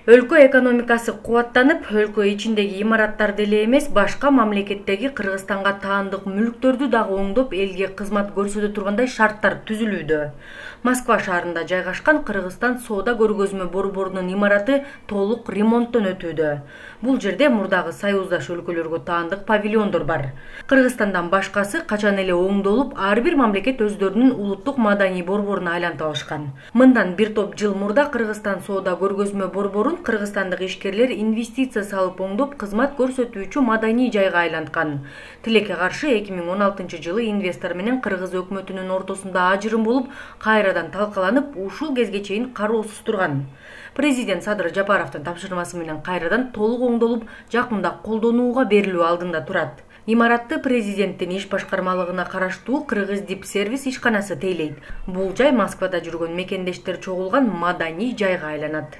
Өлкө экономикасы кубаттанып, өлкө ичиндеги имараттарды эле эмес, башка мамлекеттеги Кыргызстанга таандык мүлктөрдү дагы оңдоп, элге кызмат көрсөтө тургандай шарттар түзүлүүдө. Москва шаарында жайгашкан Кыргызстан соода көргөзмө борборунун имараты толук ремонттон өтүүдө. Бул жерде мурдагы союздаш өлкөлөргө таандык павильондор бар. Кыргызстандан башкасы качан эле оңдолуп, ар бир мамлекет өздөрүнүн улуттук маданий борборуна айлантып алышкан. Мындан бир топ жыл мурда Кыргызстан соода көргөзмө борборун кыргызстандык ишкерлер инвестиция салып оңдоп, кызмат көрсөтүүчү маданий жайга айланткан. Тилекке каршы 2016-жылы инвестор менен кыргыз өкмөтүнүн ортосунда ажырым болуп, кайрадан талкаланып, ушул кезге чейин кароосуз турган. Президент Садыр Жапаровдун тапшырмасы менен кайрадан толук оңдолуп, жакында колдонууга берилүү алдында турат. Имаратты президенттин иш башкармалыгына караштуу Кыргыздипсервис ишканасы тейлейт. Бул жай Москвада жүргөн мекендештер чогулган маданий жайга айланат.